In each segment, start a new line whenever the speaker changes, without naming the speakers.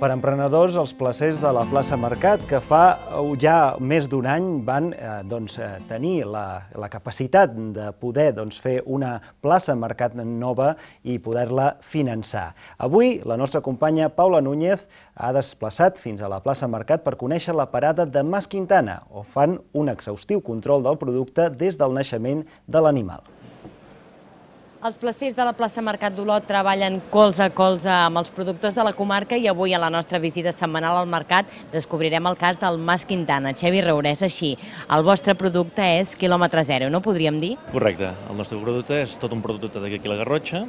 Per emprenedors, els placers de la plaça Mercat, que fa ja més d'un any van tenir la capacitat de poder fer una plaça Mercat nova i poder-la finançar. Avui, la nostra companya Paula Núñez ha desplaçat fins a la plaça Mercat per conèixer la parada de Mas Quintana, on fan un exhaustiu control del producte des del naixement de l'animal.
Els placers de la plaça Mercat d'Olot treballen colze a colze amb els productors de la comarca i avui a la nostra visita setmanal al mercat descobrirem el cas del Mas Quintana. Xevi Roure, és així. El vostre producte és quilòmetre zero, no podríem dir?
Correcte. El nostre producte és tot un producte d'aquí a la Garrotxa.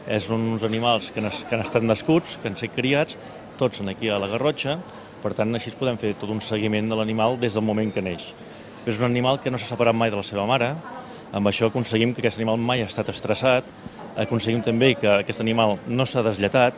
És uns animals que han estat nascuts, que han estat criats, tots aquí a la Garrotxa. Per tant, així podem fer tot un seguiment de l'animal des del moment que neix. És un animal que no s'ha separat mai de la seva mare. Amb això aconseguim que aquest animal mai ha estat estressat, aconseguim també que aquest animal no s'ha deslletat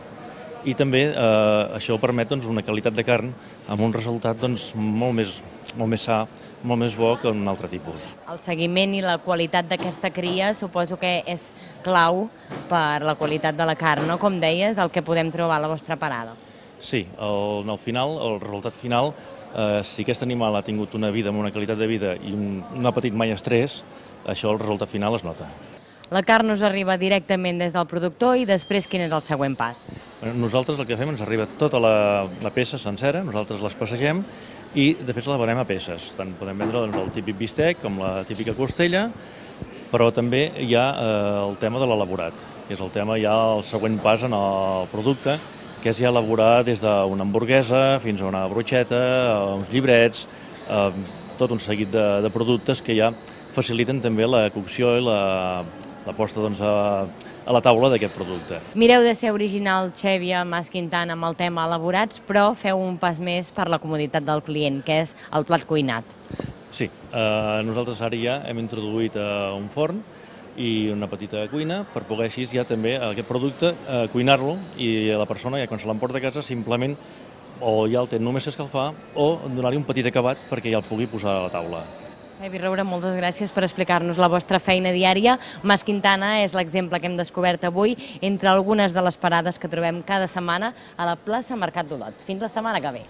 i també això permet una qualitat de carn amb un resultat molt més sa, molt més bo que un altre tipus.
El seguiment i la qualitat d'aquesta cria suposo que és clau per la qualitat de la carn, no? Com deies, el que podem trobar a la vostra parada.
Sí, al final, el resultat final, si aquest animal ha tingut una vida amb una qualitat de vida i no ha patit mai estrès, això el resultat final es nota.
La carn us arriba directament des del productor i després quin és el següent pas?
Nosaltres el que fem, ens arriba tota la peça sencera, nosaltres les passegem i després la venem a peces. Tant podem vendre el típic bistec com la típica costella, però també hi ha el tema de l'elaborat, que és el tema ja el següent pas en el producte, que és ja elaborar des d'una hamburguesa fins a una brocheta, uns llibrets, tot un seguit de productes que ja faciliten també la cocció i la posta a la taula d'aquest producte.
Mireu de ser original, Xevi, Mas Quintana, amb el tema elaborats, però feu un pas més per la comoditat del client, que és el plat cuinat.
Sí, nosaltres ara ja hem introduït un forn i una petita cuina per poder així ja també aquest producte cuinar-lo i la persona ja quan se l'emporta a casa simplement o ja el té només escalfar o donar-li un petit acabat perquè ja el pugui posar a la taula.
Xevi Roure, moltes gràcies per explicar-nos la vostra feina diària. Mas Quintana és l'exemple que hem descobert avui entre algunes de les parades que trobem cada setmana a la plaça Mercat d'Olot. Fins la setmana que ve.